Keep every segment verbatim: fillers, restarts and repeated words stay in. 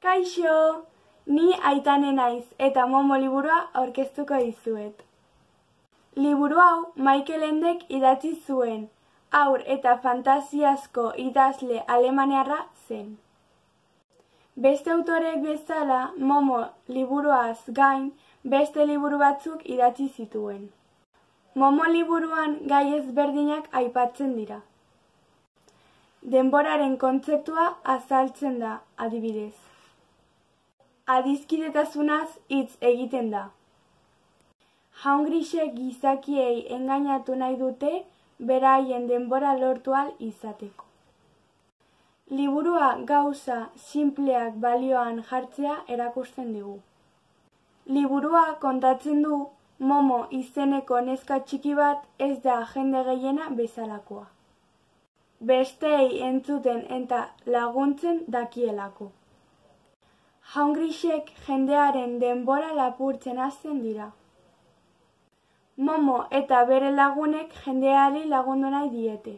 Kaixo! Ni Aitane naiz eta Momo liburua aurkeztuko dizuet. Liburu hau Michael Endek idatzi zuen, haur eta fantasiazko idazle alemaniarra zen. Beste autoreek bezala, Momo liburuaz gain beste liburu batzuk idatzi zituen. Momo liburuan gai ezberdinak aipatzen dira. Denboraren kontzeptua azaltzen da, adibidez. Adiskidetasunaz hitz egiten da. Jaun grisek gizakiei engainatu nahi dute beraien denbora lortu ahal izateko. Liburua gauza sinpleak balioan jartzea erakusten digu. Liburua kontatzen du Momo izeneko neska txiki bat ez da jende gehiena bezalakoa. Besteei entzuten eta laguntzen dakielako. Jaun grisek jendearen denbora lapurtzen hasten dira. Momo eta bere lagunek jendeari lagundu nahi diete.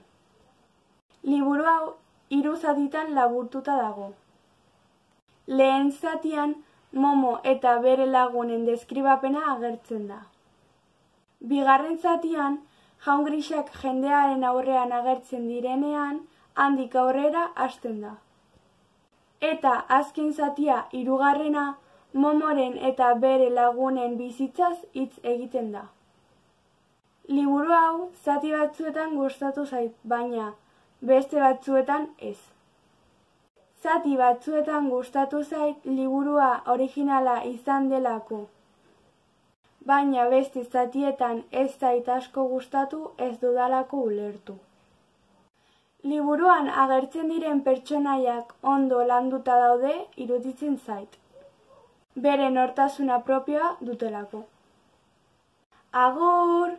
Liburu hau hiru zatitan laburtuta dago. Lehen zatian Momo eta bere lagunen deskribapena agertzen da. Bigarren zatian jaun grisak jendearen aurrean agertzen direnean handik aurrera hasten da. Eta azken zatia hirugarrena Momoren eta bere lagunen bizitzaz hitz egiten da. Liburu hau zati batzuetan gustatu zait, baina beste batzuetan ez. Zati batzuetan gustatu zait liburua originala izan delako. Baina beste zatietan ez zait asko gustatu ez dudalako ulertu. Liburuan agertzen diren pertsonaiak ondo landuta daude iruditzen zait. Bere nortasuna propioa dutelako. Agur!